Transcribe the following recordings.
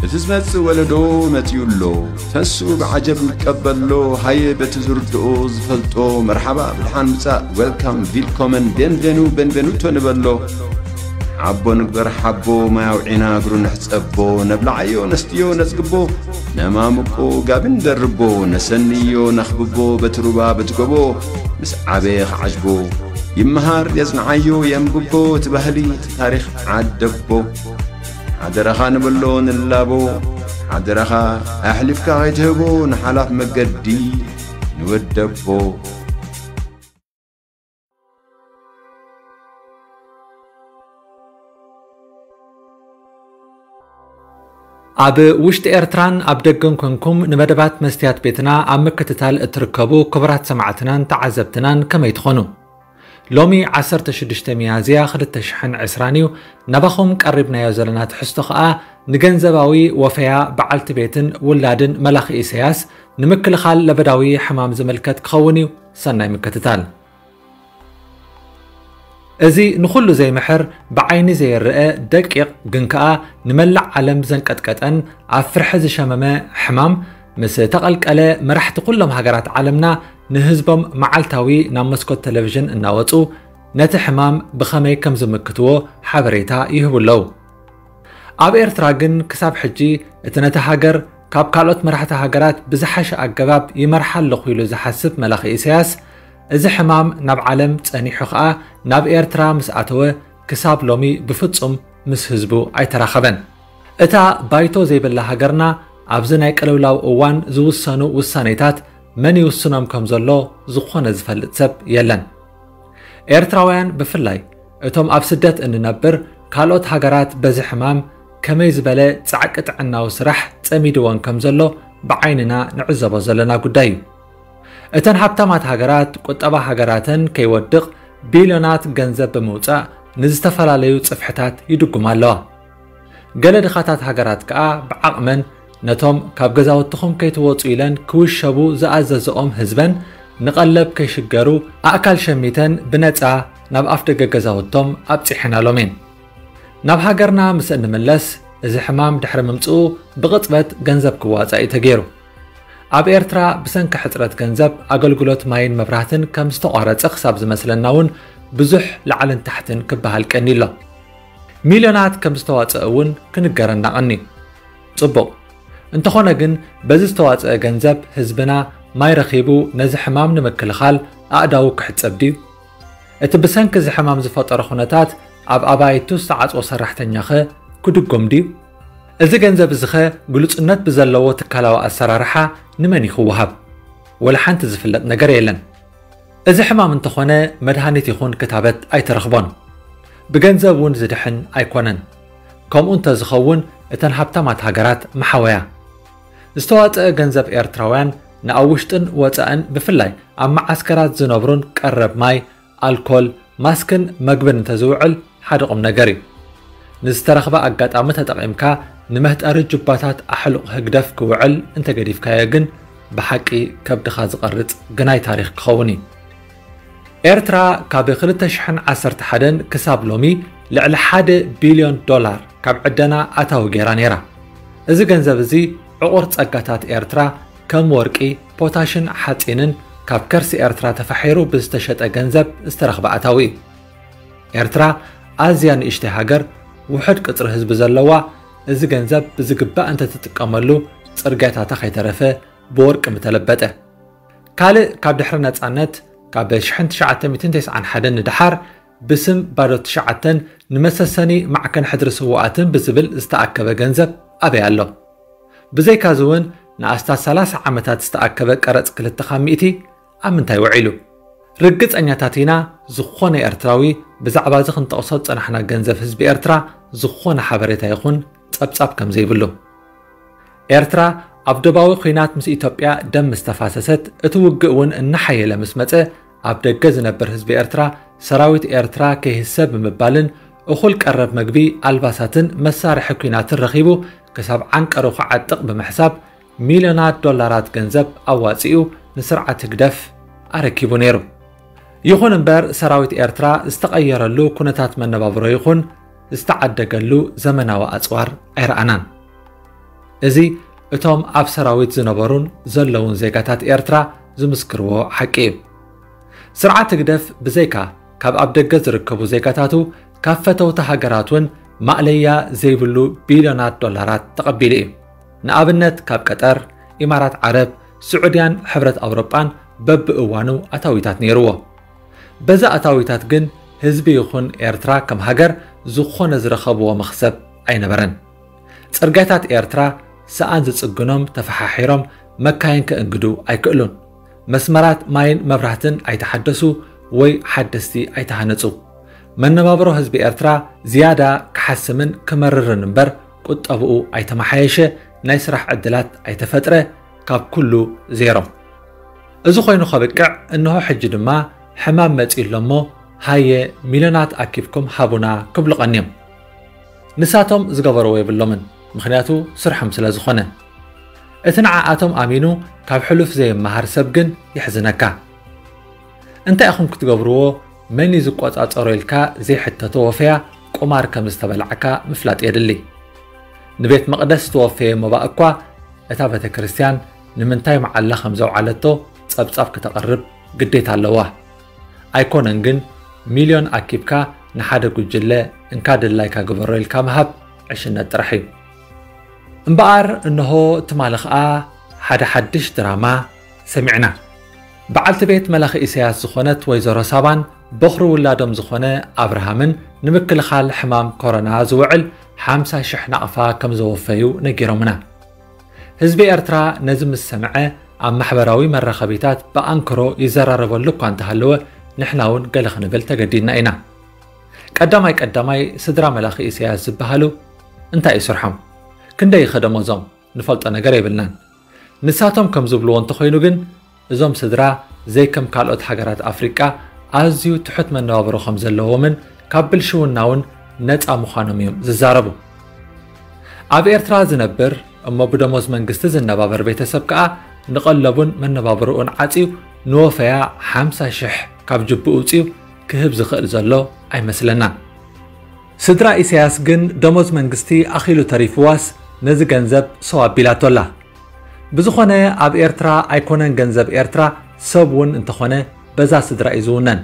እቲ ዝመጽእ ወለዶ መጺኡ ኣሎ። ተሱ ብዓጀብ ይቀበሎ። ሃየ በቲ ዝርድኦ ዝፈልጦ መርሓባ ብድሓን ምጻእ፣ ዌልካም፣ ቪልኮመን፣ ቤንቬኑ፣ ቤንቬኑቶ ንበሎ። ሓቦ ንግበር ሓቦ፣ ማይ ኣውዒና እግሩ ንሕጸቦ። ነብልዓዮ ነስትዮ ነጽግቦ፣ ነማምቆ ጋቢ ንደርቦ። ነሰንዮ ነኽብቦ በቲ ሩባ በቲ ጎቦ፣ ምስ ዓበየ ክዓጅቦ። ይመሃር የጽንዓዮ የንብቦ፣ እቲ ባህሊ እቲ ታሪኽ ዓደቦ። ሓደራኻ ንብሎ ንላቦ፣ ሓደራኻ ኣሕሊፍካ ከይትህቦ ንሓላፍ መገዲ ንወደቦ። ኣብ ውሽጢ ኤርትራን ኣብ ደገን ኮንኩም ንመደባት መስትያት ቤትና ኣብ ምክትታል እትርከቡ ክቡራት ሰማዕትናን ተዓዘብትናን ከመይ ትኾኑ? ሎሚ ዓሰርተ ሽዱሽተ ሚያዝያ ክልተ ሽሕን ዕስራን እዩ። ናባኹም ቀሪብናዮ ዘለና ትሕዝቶ ኸኣ ንገንዘባዊ ወፈያ በዓልቲ ቤትን ውላድን መላኺ ኢሳያስ ንምክልኻል ለበዳዊ ሕማም ዝምልከት ክኸውን እዩ። ሰናይ ምክትታል። እዚ ንኹሉ ዘይምሕር፣ ብዓይኒ ዘይረኣ ደቂቕ ግን ከኣ ንመላእ ዓለም ዘንቀጥቀጠን ኣብ ፍርሒ ዝሸመመ ሕማም ምስ ተቐልቀለ፣ መራሕቲ ኩሎም ሃገራት ዓለምና ንህዝቦም መዓልታዊ ናብ መስኮት ቴሌቪዥን እናወጹ ነቲ ሕማም ብኸመይ ከም ዝምክትዎ ሓበሬታ ይህቡ ኣለዉ። ኣብ ኤርትራ ግን ክሳብ ሕጂ እቲ ነቲ ሃገር ካብ ካልኦት መራሕቲ ሃገራት ብዝሓሸ ኣገባብ ይመርሓ ኣለኹ ኢሉ ዝሓስብ መላኺ ኢሳያስ፣ እዚ ሕማም ናብ ዓለም ጸኒሑ ኸኣ ናብ ኤርትራ ምስ ኣተወ ክሳብ ሎሚ ብፍጹም ምስ ህዝቡ ኣይተራኸበን። እታ ባይቶ ዘይብላ ሃገርና ኣብዚ ናይ ቅልውላው እዋን ዝውሰኑ ውሳኔታት መን ይውስኖም ከም ዘሎ ዝኾነ ዝፈልጥ ሰብ የለን። ኤርትራውያን ብፍላይ እቶም ኣብ ስደት እንነብር፣ ካልኦት ሃገራት በዚ ሕማም ከመይ ዝበለ ጻዕቂ ጥዕናዊ ስራሕ ጸሚድወን ከም ዘሎ ብዓይንና ንዕዘቦ ዘለና ጉዳይ እዩ። እተን ሃብታማት ሃገራት ቁጠባ ሃገራተን ከይወድቕ ቢልዮናት ገንዘብ ብምውጻእ ንዝተፈላለዩ ጽፍሕታት ይድጉማ ኣለዋ። ገለ ድኻታት ሃገራት ከኣ ብዓቕመን ነቶም ካብ ገዛውትኹም ከይትወጹ ኢለን ክውሸቡ ዝኣዘዝኦም ህዝበን ንቐለብ ከይሽገሩ ኣእካል ሸሚተን ብነጻ ናብ ኣፍደገ ገዛውቶም ኣብጺሐናሎም እየን። ናብ ሃገርና ምስ እንምለስ፣ እዚ ሕማም ድሕሪ ምምጽኡ ብቕጽበት ገንዘብ ክዋጻእ እዩ ተገይሩ። ኣብ ኤርትራ ብሰንኪ ሕጽረት ገንዘብ ኣገልግሎት ማይን መብራህትን ከም ዝተቋረጸ ክሳብ ዝመስለና እውን ብዙሕ ላዕልን ታሕትን ክበሃል ቀኒ ኣሎ። ሚልዮናት ከም ዝተዋጸአ እውን ክንገረና ቀኒ። ጽቡቕ። እንተኾነ ግን በዚ ዝተዋጸአ ገንዘብ ህዝብና ማይ ረኺቡ ነዚ ሕማም ንምክልኻል ኣእዳዉ ክሕጸብ ድዩ? እቲ ብሰንኪ እዚ ሕማም ዝፈጠሮ ኩነታት ኣብ ኣባይቱ ዝተዓጽወ ሰራሕተኛኸ ክድጎም ድዩ? እዚ ገንዘብ እዚኸ ግሉጽነት ብዘለዎ ትካላዊ ኣሰራርሓ ንመን እዩ ክወሃብ? ወላ ሓንቲ ዝፍለጥ ነገር የለን። እዚ ሕማም እንተኾነ መድሃኒት ይኹን ክታበት ኣይተረኽቦን። ብገንዘብ እውን ዝድሕን ኣይኮነን። ከምኡ እንተዝኸውን እተን ሃብታማት ሃገራት ምሓወያ። ዝተዋጸአ ገንዘብ ኤርትራውያን ንኣብ ውሽጥን ወጻእን ብፍላይ ኣብ መዓስከራት ዝነብሩን ቀረብ ማይ፣ ኣልኮል፣ ማስክን መግብን እንተዝውዕል ሓደ ቁም ነገር እዩ። ንዝተረኽበ ኣጋጣሚ ተጠቒምካ ንመህጠሪ ጁባታት ኣሕሉቕ ህግደፍ ክውዕል እንተገዲፍካዮ ግን ብሓቂ ከብድኻ ዝቐርጽ ግናይ ታሪኽ ክኸውን እዩ። ኤርትራ ካብ ክልተ ሽሕን ዓሰርተ ሓደን ክሳብ ሎሚ ልዕሊ ሓደ ቢልዮን ዶላር ካብ ዕደና ኣታዊ ገይራ ነይራ። እዚ ገንዘብ እዚ ዕቑር ጸጋታት ኤርትራ ከም ወርቂ፣ ፖታሽን ሓጺንን ካብ ከርሲ ኤርትራ ተፋሒሩ ብዝተሸጠ ገንዘብ ዝተረኽበ ኣታዊ እዩ። ኤርትራ ኣዝያ ንእሽተይ ሃገር፣ ውሑድ ቅጽሪ ህዝቢ ዘለዋ፣ እዚ ገንዘብ ብዝግባእ እንተትጥቀመሉ ጽርግያታታ ከይተረፈ ብወርቂ ምተለበጠ። ካልእ ካብ ድሕሪ ነጻነት ካብ ሽሕን ትሽዓተ ሚእትን ተስዓን ሓደን ንደሓር ብስም ባዶ ትሽዓተን ንመሰሰኒ ማዕከን ሕድሪ ስዉኣትን ብዝብል ዝተኣከበ ገንዘብ ኣበይ ኣሎ? ብዘይካዚ እውን ንኣስታት ሰላሳ ዓመታት ዝተኣከበ ቀረጽ ክልተ ካብ ሚእቲ ኣብ ምንታይ ውዒሉ? ርግጸኛታት ኢና፣ ዝኾነ ኤርትራዊ ብዛዕባ እዚ ክንጠቕሶ ዝጸናሕና ገንዘብ ህዝቢ ኤርትራ ዝኾነ ሓበሬታ ይኹን ጸብጻብ ከም ዘይብሉ። ኤርትራ ኣብ ዶባዊ ኲናት ምስ ኢትዮጵያ ደም ምስ ተፋሰሰት፣ እቲ ውግእ እውን እናሓየለ ምስ መጸ፣ ኣብ ደገ ዝነብር ህዝቢ ኤርትራ ሰራዊት ኤርትራ ከይህሰ ብምባልን እኹል ቀረብ መግቢ፣ ኣልባሳትን መሳርሒ ኲናትን ረኺቡ ክሳብ ዓንቀሩ ክዓጥቕ ብምሕሳብ ሚልዮናት ዶላራት ገንዘብ ኣዋጺኡ ንስርዓት ህግደፍ ኣረኪቡ ነይሩ። ይኹን እምበር ሰራዊት ኤርትራ ዝተቐየረሉ ኩነታት መነባብሮ ይኹን ዝተዓደገሉ ዘመናዊ ኣጽዋር ኣይረኣናን። እዚ እቶም ኣብ ሰራዊት ዝነበሩን ዘለውን ዜጋታት ኤርትራ ዝምስክርዎ ሓቂ እዩ። ስርዓት ህግደፍ ብዘይካ ካብ ኣብ ደገ ዝርከቡ ዜጋታቱ፣ ካብ ፈተውቲ ሃገራት እውን ማእለያ ዘይብሉ ቢልዮናት ዶላራት ተቐቢሉ እዩ። ንኣብነት ካብ ቀጠር፣ ኢማራት ዓረብ፣ ስዑድያን ሕብረት ኣውሮጳን በብእዋኑ ኣታዊታት ነይርዎ። በዚ ኣታዊታት ግን ህዝቢ ይኹን ኤርትራ ከም ሃገር ዝኾነ ዝረኸብዎ መኽሰብ ኣይነበረን። ጽርግያታት ኤርትራ ሰኣን ዝጽግኖም ተፈሓሒሮም መካይን ከእንግዱ ኣይክእሉን። መስመራት ማይን መብራህትን ኣይተሓደሱ ወይ ሓደስቲ ኣይተሃነጹ። መነባብሮ ህዝቢ ኤርትራ ዝያዳ ክሓስምን ክመርርን እምበር ቁጠብኡ ኣይተመሓየሸ፣ ናይ ስራሕ ዕድላት ኣይተፈጥረ፣ ካብ ኩሉ ዜሮ። እዚ ኮይኑ ከብቅዕ እንሆ ሕጂ ድማ ሕማም መጺኡ ኣሎ እሞ ሃየ ሚልዮናት ኣኪብኩም ሃቡና ክብሉ ቀንዮም። ንሳቶም ዝገበርዎ የብሎምን፣ ምኽንያቱ ስርሖም ስለ ዝኾነ። እቲ ንዓኣቶም ኣሚኑ ካብ ሕሉፍ ዘይመሃር ሰብ ግን የሕዝነካ። እንታይ ኢኹም ክትገብርዎ፣ መን እዩ ዝቆጻጸሮ ኢልካ ዘይሕተቶ ወፈያ ቁማር ከም ዝተበላዕካ ምፍላጥ የድሊ። ንቤት መቕደስ ዝተወፈየ መባእ እኳ እታ ቤተ ክርስቲያን ንምንታይ መዓላ ከም ዘውዓለቶ ጸብጻብ ክተቕርብ ግዴታ ኣለዋ። ኣይኮነን ግን ሚልዮን ኣኪብካ ንሓደ ጉጅለ እንካ ድላይካ ግበሮ ኢልካ ምሃብ ዕሽነት ጥራሕ እዩ። እምበኣር እንሆ ትማሊ ኸኣ ሓደ ሓድሽ ድራማ ሰሚዕና። በዓልቲ ቤት መላኺ ኢሳያስ ዝኾነት ወይዘሮ ሳባን በኹሪ ውላዶም ዝኾነ ኣብርሃምን ንምክልኻል ሕማም ኮሮና ዝውዕል ሓምሳ ሽሕ ናቕፋ ከም ዘወፈዩ ነጊሮምና። ህዝቢ ኤርትራ ነዚ ምስ ሰምዐ ኣብ ማሕበራዊ መራኸቢታት ብኣንክሮ ይዘራረበሉ እኳ እንተሃለወ ንሕና እውን ገለ ክንብል ተገዲድና ኢና። ቀዳማይ ቀዳማይ ስድራ መላኺ ኢሳያስ ዝበሃሉ እንታይ እዩ ስርሖም? ክንደይ ይኸ ደሞዞም? ንፈልጦ ነገር የብልናን። ንሳቶም ከም ዝብልዎ እንተኾይኑ ግን እዞም ስድራ ዘይከም ካልኦት ሃገራት ኣፍሪቃ ኣዝዩ ትሑት መነባብሮ ከም ዘለዎምን ካብ ብልሽውና እውን ነፃ ምዃኖም እዮም ዝዛረቡ። ኣብ ኤርትራ ዝነብር እሞ ብደሞዝ መንግስቲ ዝነባበር ቤተሰብ ከኣ ንቐለቡን መነባብርኡን ዓጽዩ ንወፈያ ሓምሳ ሽሕ ካብ ጅብኡ ውጽዩ ክህብ ዝኽእል ዘሎ ኣይመስለናን። ስድራ ኢሳያስ ግን ደሞዝ መንግስቲ ኣኺሉ ተሪፍዋስ ነዚ ገንዘብ ሰው ኣቢላቶ ኣላ። ብዝኾነ ኣብ ኤርትራ ኣይኮነን ገንዘብ ኤርትራ ሰብ እውን እንተኾነ በዛ ስድራ እዩ ዝውነን።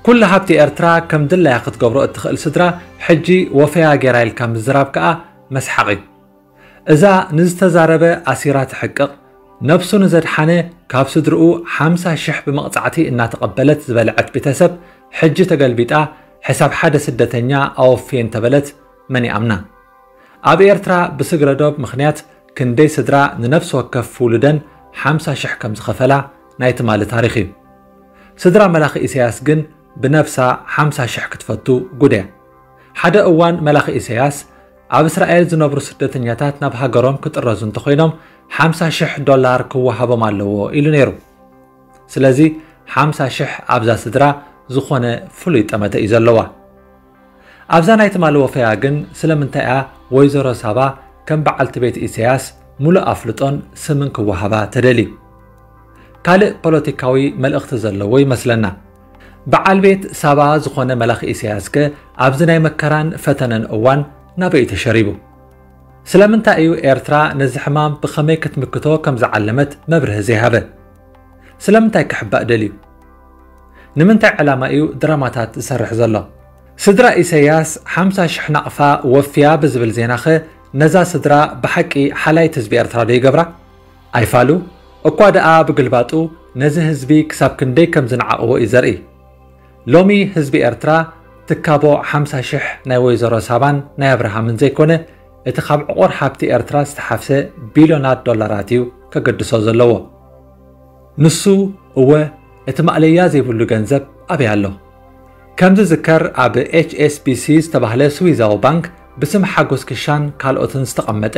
ኩሉ ሃብቲ ኤርትራ ከም ድላያ ክትገብሮ እትኽእል ስድራ ሕጂ ወፈያ ጌራ ኢልካ ምዝራብ ከኣ መስሓቕ እዩ። እዛ ንዝተዛረበ ኣሲራ ትሕቅቕ፣ ነብሱ ንዘድሓነ ካብ ስድርኡ ሓምሳ ሽሕ ብመቕጻዕቲ እናተቐበለት ዝበልዐት ቤተሰብ ሕጂ ተገልቢጣ ሕሳብ ሓደ ስደተኛ ኣወፍየ እንተበለት መን ይኣምና? ኣብ ኤርትራ ብስግረ ዶብ ምኽንያት ክንደይ ስድራ ንነፍሲ ወከፍ ውሉደን ሓምሳ ሽሕ ከም ዝኸፈላ ናይ ትማሊ ታሪኽ እዩ። ስድራ መላኺ ኢሳያስ ግን ብነብሳ ሓምሳ ሽሕ ክትፈቱ ጉድ እያ። ሓደ እዋን መላኺ ኢሳያስ ኣብ እስራኤል ዝነብሩ ስደተኛታት ናብ ሃገሮም ክጥረዙ እንተኾይኖም ሓምሳ ሽሕ ዶላር ክወሃቦም ኣለዎ ኢሉ ነይሩ። ስለዚ ሓምሳ ሽሕ ኣብዛ ስድራ ዝኾነ ፍሉይ ጠመተ እዩ ዘለዋ። ኣብዛ ናይ ትማሊ ወፈያ ግን ስለምንታይ እያ ወይዘሮ ሳባ ከም በዓልቲ ቤት ኢሳያስ ሙሉእ ኣፍልጦን ስምን ክወሃባ ተደልዩ? ካልእ ፖለቲካዊ መልእኽቲ ዘለዎ ይመስለና። በዓል ቤት ሳባ ዝኾነ መላኺ ኢሳያስከ ኣብዚ ናይ መከራን ፈተነን እዋን ናበይ ተሸሪቡ? ስለምንታይ እዩ ኤርትራ ነዚ ሕማም ብኸመይ ክትምክቶ ከም ዝዓለመት መብርሂ ዘይሃበ? ስለምንታይ ክሕባእ ደልዩ? ንምንታይ ዕላማ እዩ ድራማታት ዝሰርሕ ዘሎ? ስድራ ኢሳያስ ሓምሳ ሽሕ ናቕፋ ወፍያ ብዝብል ዜናኸ ነዛ ስድራ ብሓቂ ሓላይት ህዝቢ ኤርትራ ዶ ይገብራ? ኣይፋሉ እኳ ደኣ ብግልባጡ ነዚ ህዝቢ ክሳብ ክንደይ ከም ዝነዓቕዎ እዩ ዘርኢ። ሎሚ ህዝቢ ኤርትራ ትካቦ ሓምሳ ሽሕ ናይ ወይዘሮ ሳባን ናይ ኣብርሃምን ዘይኮነ እቲ ካብ ዕቑር ሃብቲ ኤርትራ ዝተሓፍሰ ቢልዮናት ዶላራት እዩ ከገድሶ ዘለዎ። ንሱ እወ እቲ ማእለያ ዘይብሉ ገንዘብ ኣበይ ኣሎ? ከም ዝዝከር ኣብ ኤች ኤስ ቢ ሲ ዝተባህለ ስዊዛዊ ባንክ ብስም ሓጎስ ክሻን ካልኦትን ዝተቐመጠ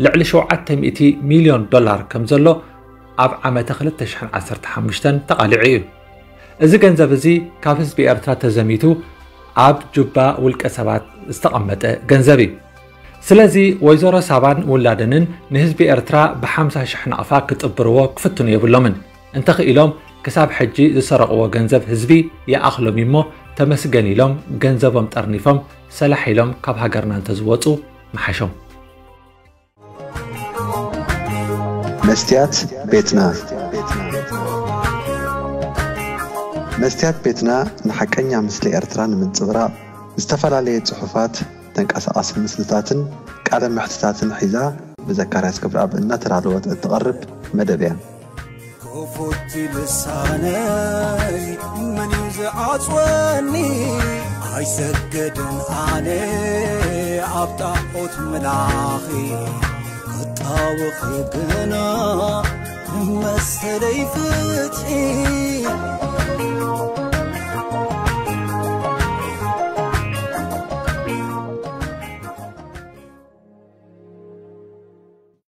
ልዕሊ ሸውዓተ ሚእቲ ሚልዮን ዶላር ከም ዘሎ ኣብ ዓመተ ክልተ ሽሕን ዓሰርተ ሓሙሽተን ተቓሊዑ እዩ። እዚ ገንዘብ እዚ ካብ ህዝቢ ኤርትራ ተዘሚቱ ኣብ ጁባ ውልቀ ሰባት ዝተቐመጠ ገንዘብ እዩ። ስለዚ ወይዘሮ ሳባን ውላደንን ንህዝቢ ኤርትራ ብሓምሳ ሽሕ ናቕፋ ክጥብርዎ ክፍትኑ የብሎምን። እንተኽኢሎም ክሳብ ሕጂ ዝሰረቕዎ ገንዘብ ህዝቢ ይኣኽሎም እዩሞ ተመስገን ኢሎም ገንዘቦም ጠርኒፎም ሰላሕ ኢሎም ካብ ሃገርና እንተዝወፁ ምሓሾም። መስትያት ቤትና። መስትያት ቤትና ንሓቀኛ ምስሊ ኤርትራ ንምንጽብራቕ ዝተፈላለየ ጽሑፋት፣ ተንቀሳቓሲ ምስልታትን ቃለ መሕትታትን ሒዛ ብዘካርያስ ክብረኣብ እናተዳለወት እትቐርብ መደብ እያ። ክፉት ልሳነይ መን እዩ ዝዓጽወኒ? ኣይሰገድን ኣነ ኣብ ጣዖት ምላኺ ክጣወኺ ግና መሰለይ ፍትሒ።